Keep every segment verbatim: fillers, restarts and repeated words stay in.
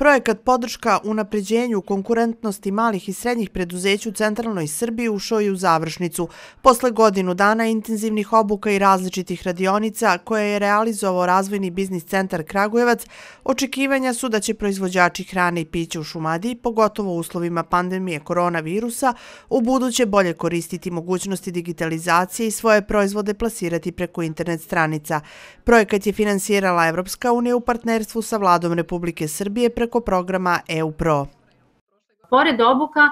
Projekat podrška unapređenju konkurentnosti malih i srednjih preduzeća u centralnoj Srbiji ušao je u završnicu. Posle godinu dana intenzivnih obuka i različitih radionica koje je realizovao Razvojni biznis centar Kragujevac, očekivanja su da će proizvođači hrane i pića u Šumadiji, pogotovo u uslovima pandemije koronavirusa, u buduće bolje koristiti mogućnosti digitalizacije i svoje proizvode plasirati preko internet stranica. Projekat je finansirala Evropska unija u partnerstvu sa Vladom Republike Srbije preko programa E U Pro. Pored obuka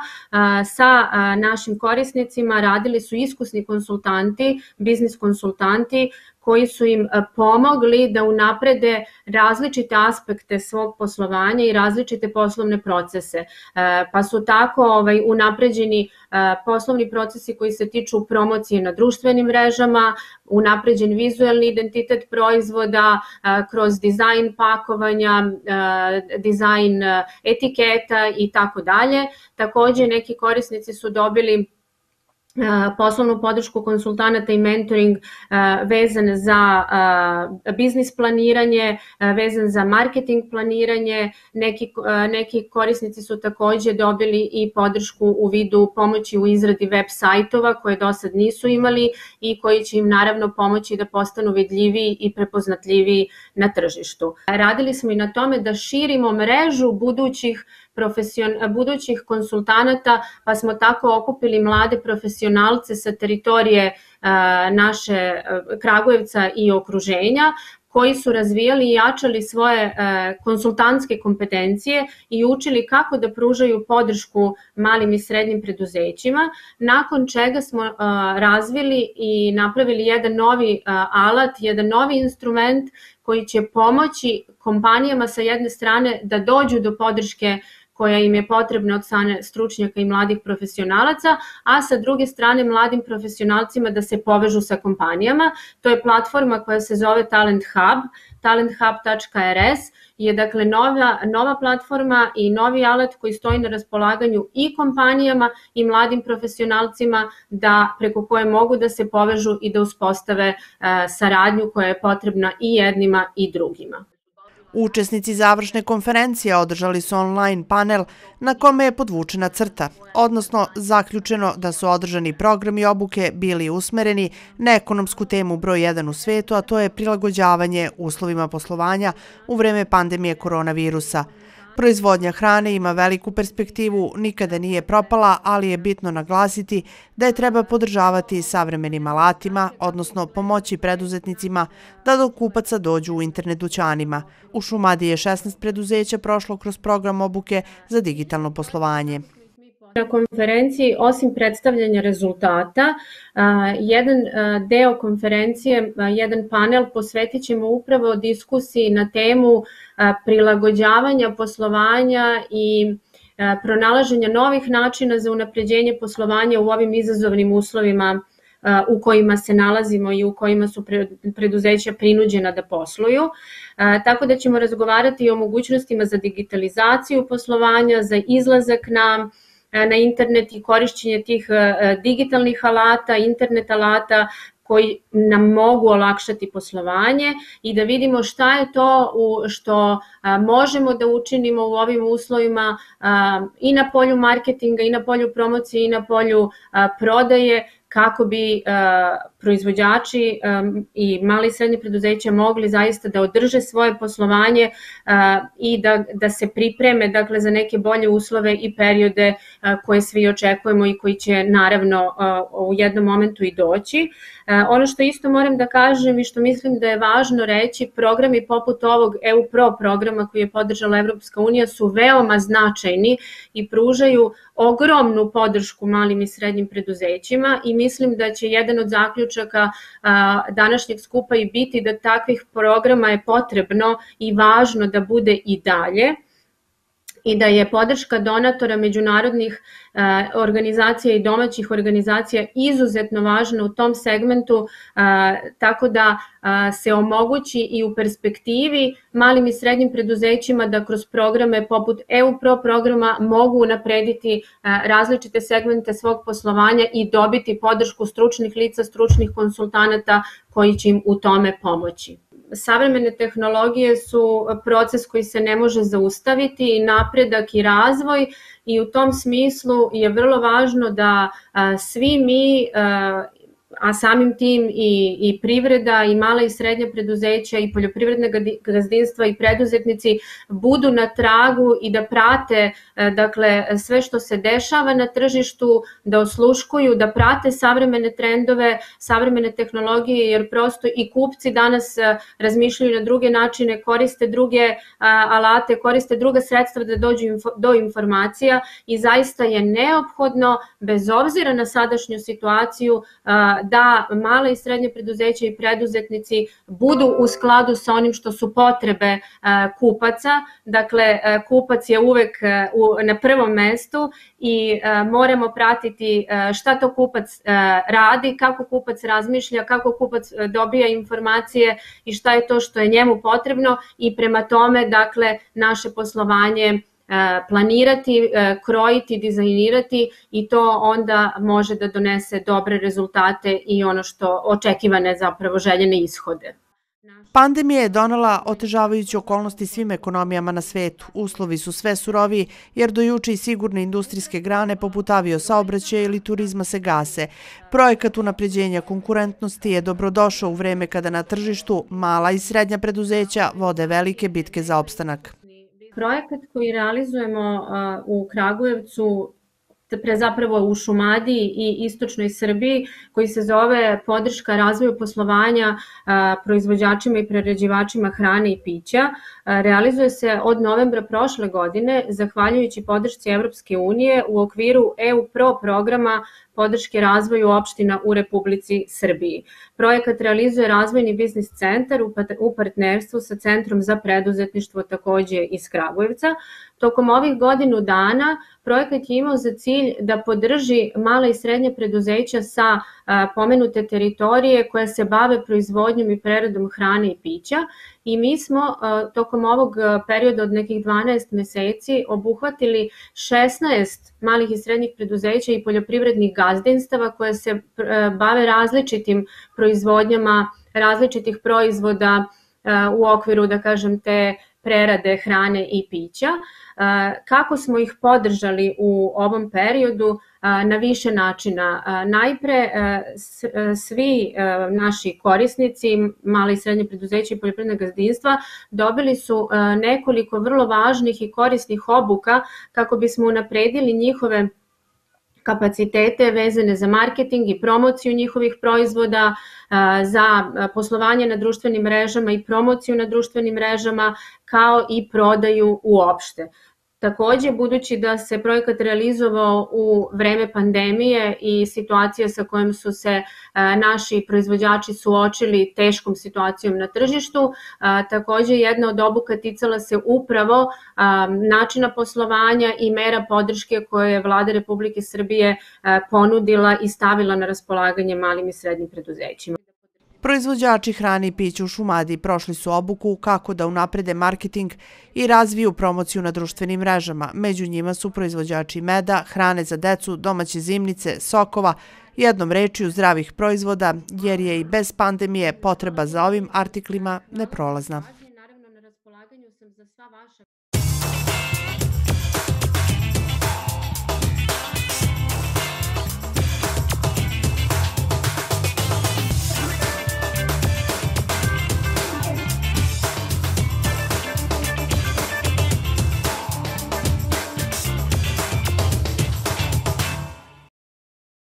sa našim korisnicima radili su iskusni konsultanti, biznis konsultanti koji su im pomogli da unaprede različite aspekte svog poslovanja i različite poslovne procese. Pa su tako ovaj, unapređeni poslovni procesi koji se tiču promocije na društvenim mrežama, unapređen vizuelni identitet proizvoda kroz dizajn pakovanja, dizajn etiketa i tako dalje. Takođe neki korisnici su dobili poslovnu podršku konsultanata i mentoring vezan za biznis planiranje, vezan za marketing planiranje. Neki, neki korisnici su takođe dobili i podršku u vidu pomoći u izradi web sajtova koje do sad nisu imali i koji će im naravno pomoći da postanu vidljiviji i prepoznatljiviji na tržištu. Radili smo i na tome da širimo mrežu budućih budućih konsultanata, pa smo tako okupili mlade profesionalce sa teritorije naše Kragujevca i okruženja, koji su razvijali i jačali svoje konsultantske kompetencije i učili kako da pružaju podršku malim i srednjim preduzećima, nakon čega smo razvili i napravili jedan novi alat, jedan novi instrument koji će pomoći kompanijama sa jedne strane da dođu do podrške koja im je potrebna od strane stručnjaka i mladih profesionalaca, a sa druge strane mladim profesionalcima da se povežu sa kompanijama. To je platforma koja se zove Talent Hub, talent hub tačka r s je dakle nova, nova platforma i novi alat koji stoji na raspolaganju i kompanijama i mladim profesionalcima da preko koje mogu da se povežu i da uspostave saradnju koja je potrebna i jednima i drugima. Učesnici završne konferencije održali su online panel na kome je podvučena crta, odnosno zaključeno da su održani programi obuke bili usmereni na ekonomsku temu broj jedan u svetu, a to je prilagođavanje uslovima poslovanja u vreme pandemije koronavirusa. Proizvodnja hrane ima veliku perspektivu, nikada nije propala, ali je bitno naglasiti da je treba podržavati savremenim alatima, odnosno pomoći preduzetnicima da do kupaca dođu u internet dućanima. U Šumadiji je šesnaest preduzeća prošlo kroz program obuke za digitalno poslovanje. Na konferenciji, osim predstavljanja rezultata, jedan deo konferencije, jedan panel posvetit ćemo upravo diskusiji na temu prilagođavanja poslovanja i pronalaženja novih načina za unapređenje poslovanja u ovim izazovnim uslovima u kojima se nalazimo i u kojima su preduzeća prinuđena da posluju. Tako da ćemo razgovarati i o mogućnostima za digitalizaciju poslovanja, za izlazak na na internet i korišćenje tih digitalnih alata, internet alata koji nam mogu olakšati poslovanje i da vidimo šta je to što možemo da učinimo u ovim uslovima i na polju marketinga, i na polju promocije, i na polju prodaje, kako bi proizvođači i mali i srednji preduzeća mogli zaista da održe svoje poslovanje i da, da se pripreme dakle, za neke bolje uslove i periode koje svi očekujemo i koji će naravno u jednom momentu i doći. Ono što isto moram da kažem i što mislim da je važno reći, programi poput ovog E U Pro programa koji je podržala Evropska unija su veoma značajni i pružaju ogromnu podršku malim i srednjim preduzećima i mislim da će jedan od zaključaka današnjeg skupa i biti da takvih programa je potrebno i važno da bude i dalje i da je podrška donatora međunarodnih organizacija i domaćih organizacija izuzetno važna u tom segmentu, tako da se omogući i u perspektivi malim i srednjim preduzećima da kroz programe poput E U Pro programa mogu unaprediti različite segmente svog poslovanja i dobiti podršku stručnih lica, stručnih konsultanata koji će im u tome pomoći. savremene tehnologije su proces koji se ne može zaustaviti, i napredak i razvoj, i u tom smislu je vrlo važno da svi mi, a samim tim i, i privreda i mala i srednja preduzeća i poljoprivredne gazdinstva i preduzetnici budu na tragu i da prate dakle, sve što se dešava na tržištu, da osluškuju, da prate savremene trendove, savremene tehnologije, jer prosto i kupci danas razmišljaju na druge načine, koriste druge alate, koriste druga sredstva da dođu do informacija, i zaista je neophodno, bez obzira na sadašnju situaciju, da mala i srednje preduzeća i preduzetnici budu u skladu sa onim što su potrebe kupaca. Dakle, kupac je uvek na prvom mestu i moramo pratiti šta to kupac radi, kako kupac razmišlja, kako kupac dobija informacije i šta je to što je njemu potrebno, i prema tome, dakle, naše poslovanje planirati, krojiti, dizajnirati, i to onda može da donese dobre rezultate i ono što očekivane, zapravo željene ishode. Pandemija je donela otežavajuće okolnosti svim ekonomijama na svetu. Uslovi su sve suroviji, jer do juče i sigurne industrijske grane poput aviosaobraćaja ili turizma se gase. Projekat unapređenja konkurentnosti je dobrodošao u vreme kada na tržištu mala i srednja preduzeća vode velike bitke za opstanak. Projekat koji realizujemo u Kragujevcu, pre zapravo u Šumadiji i istočnoj Srbiji, koji se zove podrška razvoju poslovanja proizvođačima i prerađivačima hrane i pića, realizuje se od novembra prošle godine, zahvaljujući podršci Evropske unije u okviru E U Pro programa podrške razvoju opština u Republici Srbiji. Projekat realizuje Razvojni biznis centar u partnerstvu sa Centrom za preduzetništvo, takođe iz Kragujevca. Tokom ovih godinu dana projekat je imao za cilj da podrži mala i srednja preduzeća sa pomenute teritorije koja se bave proizvodnjom i preradom hrane i pića, i mi smo tokom ovog perioda od nekih dvanaest meseci obuhvatili šesnaest malih i srednjih preduzeća i poljoprivrednih gazdinstava koje se bave različitim proizvodnjama, različitih proizvoda u okviru, da kažem, te prerade hrane i pića. Kako smo ih podržali u ovom periodu? Na više načina. Najpre, svi naši korisnici, mala i srednje preduzeća i poljoprivredna gazdinstva, dobili su nekoliko vrlo važnih i korisnih obuka kako bismo unapredili njihove kapacitete vezane za marketing i promociju njihovih proizvoda, za poslovanje na društvenim mrežama i promociju na društvenim mrežama, kao i prodaju uopšte. Takođe, budući da se projekat realizovao u vreme pandemije i situacija sa kojom su se naši proizvođači suočili teškom situacijom na tržištu, takođe jedna od obuka ticala se upravo načina poslovanja i mera podrške koje je Vlada Republike Srbije ponudila i stavila na raspolaganje malim i srednjim preduzećima. Proizvođači hrane i pića u Šumadiji prošli su obuku kako da unaprede marketing i razviju promociju na društvenim mrežama. Među njima su proizvođači meda, hrane za decu, domaće zimnice, sokova, jednom rečju zdravih proizvoda, jer je i bez pandemije potreba za ovim artiklima neprolazna.